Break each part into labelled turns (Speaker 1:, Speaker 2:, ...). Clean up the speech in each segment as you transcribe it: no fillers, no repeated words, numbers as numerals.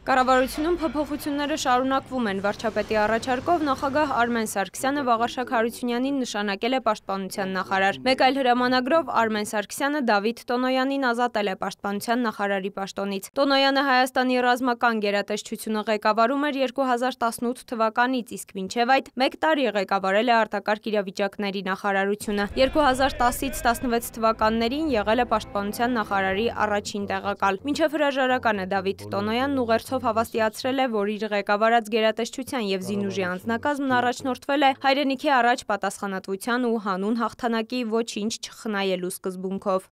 Speaker 1: Կառավարությունում փոփոխությունները շարունակվում են։ Վարչապետի առաջարկով նախագահ Արմեն Սարգսյանը Վաղարշակ Հարությունյանին նշանակել է պաշտպանության նախարար։ Մեկ այլ հրամանագրով Արմեն Սարգսյանը Դավիթ Տոնոյանին ազատել է պաշտպանության նախարարի պաշտոնից։ Տոնոյանը Հայաստանի ռազմական գերատեսչությունը ղեկավարում էր 2018 թվականից, իսկ մինչև այդ 1 տարի ղեկավարել է արտակարգ իրավիճակների նախարարությունը։ 2010-ից 16 թվականներին եղել է պաշտպանության նախարարի առաջին տեղակալ։ Մինչև հրաժարականը Դավիթ Տոնոյանն ուղերձով հավաստիացրել է, որ իր ղեկավարած գերատեսչության եւ զինուժի անձնակազմն առաջնորդվել է հայրենիքի առաջ պատասխանատվության ու հանուն հաղթանակի ոչինչ չխնայելու սկզբունքով։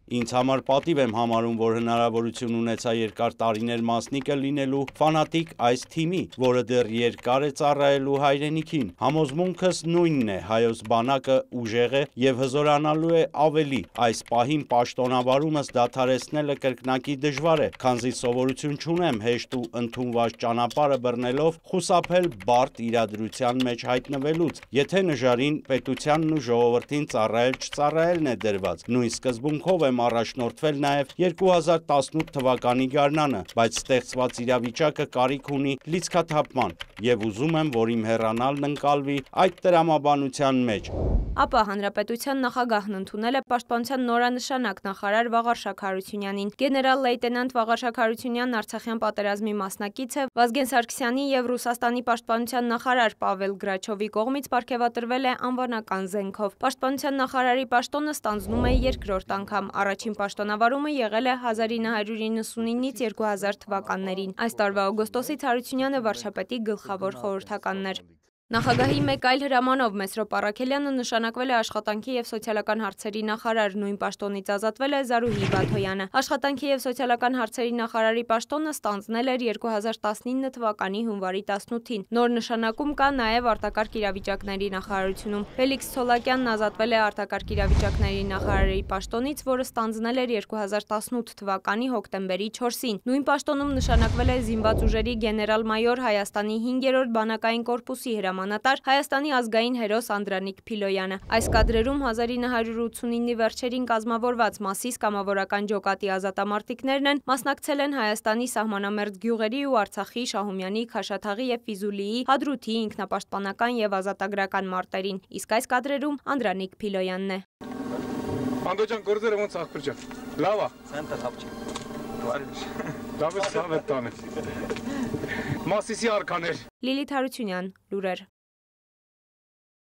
Speaker 2: Ինձ համար պատիվ եմ համարում, որ հնարավորություն ունեցա երկար տարիներ մասնիկը լինելու ֆանատիկ այս թիմի, որը դեռ երկար է ծառայելու հայրենիքին։ Համոզմունքս նույնն է, հայոց բանակը ուժեղ է եւ հզորանալու է ավելի։ Այս պահին պաշտոնավարումս դադարեցնելը կրկնակի դժվար է, քանզի սովորություն չունեմ հեշտ ու ընդունված ճանապարհը բռնելով խուսափել բարդ իրադրության մեջ հայտնվելուց, եթե նժարին պետությանն ու ժողովրդին ծառայել-չծառայելն է դրված։ Նույն սկզբունքով եմ առաջնորդվել նաև 2018 թվականի գարնանը, բայց ստեղծված իրավիճակը կարիք ունի լիցքաթափման եւ ուզում եմ, որ իմ հեռանալն ընկալվի այդ տրամաբանության մեջ։
Speaker 1: Ապա հանրապետության նախագահն ընդունել է պաշտպանության նորանշանակ նախարար Վաղարշակ Հարությունյանին։ Գեներալ-լեյտենանտ Վաղարշակ Հարությունյանն Արցախյան պատերազմի մասնակից է, Վազգեն Սարգսյանի եւ Ռուսաստանի պաշտպանության նախարար Պավել Գրաչովի կողմից պարգևատրվել է անվանական զենքով։ Պաշտպանության նախարարի պաշտոնը ստանձնում է երկրորդ անգամ։ Առաջին պաշտոնավարումը եղել է 1999-ից 2000 թվականներին։ Այս տարվա օգոստոսից Հարությունյանը վարչապետի գլխավոր խորհրդականն էր։ Նախագահի մեկ այլ հրամանով Մեսրոպ Առաքելյանը նշանակվել է աշխատանքի եւ սոցիալական հարցերի նախարար, նույն պաշտոնից ազատվել է Զարուհի Բաթոյանը։ Աշխատանքի եւ սոցիալական հարցերի նախարարի պաշտոնը ստանձնել էր 2019 թվականի հունվարի 18-ին։ Նոր նշանակում կա նաեւ արտակարգ իրավիճակների նախարարությունում։ Ֆելիքս Ցոլակյանն ազատվել է արտակարգ իրավիճակների նախարարի պաշտոնից, որը ստանձնել էր 2018 թվականի հոկտեմբերի 4-ին։ Նույն պաշտոնում նշանակվել է զինված ուժերի գեներալ-մայոր Հայաստանի 5-րդ բանակային կորպուսի հրամանատար Հայաստանի ազգային հերոս Անդրանիկ Փիլոյանը։ Այս կադրերում 1989-ի վերջերին կազմավորված Մասիս կամավորական ջոկատի ազատամարտիկներն են, մասնակցել են Հայաստանի սահմանամերձ գյուղերի ու Արցախի, Շահումյանի, Քաշաթաղի եւ Ֆիզուլիի, Հադրութի ինքնապաշտպանական եւ ազատագրական մարտերին։ Իսկ այս կադրերում Անդրանիկ Փիլոյանն է։
Speaker 3: Անդոջան գործերը ոնց ախպեր ջան։ Լավ է։
Speaker 4: Սենտը խապչի։
Speaker 3: Լավ է, սավ է տանը։ Մասիսի արքաներ։
Speaker 1: Լիլիթ Հարությունյան, լուրեր։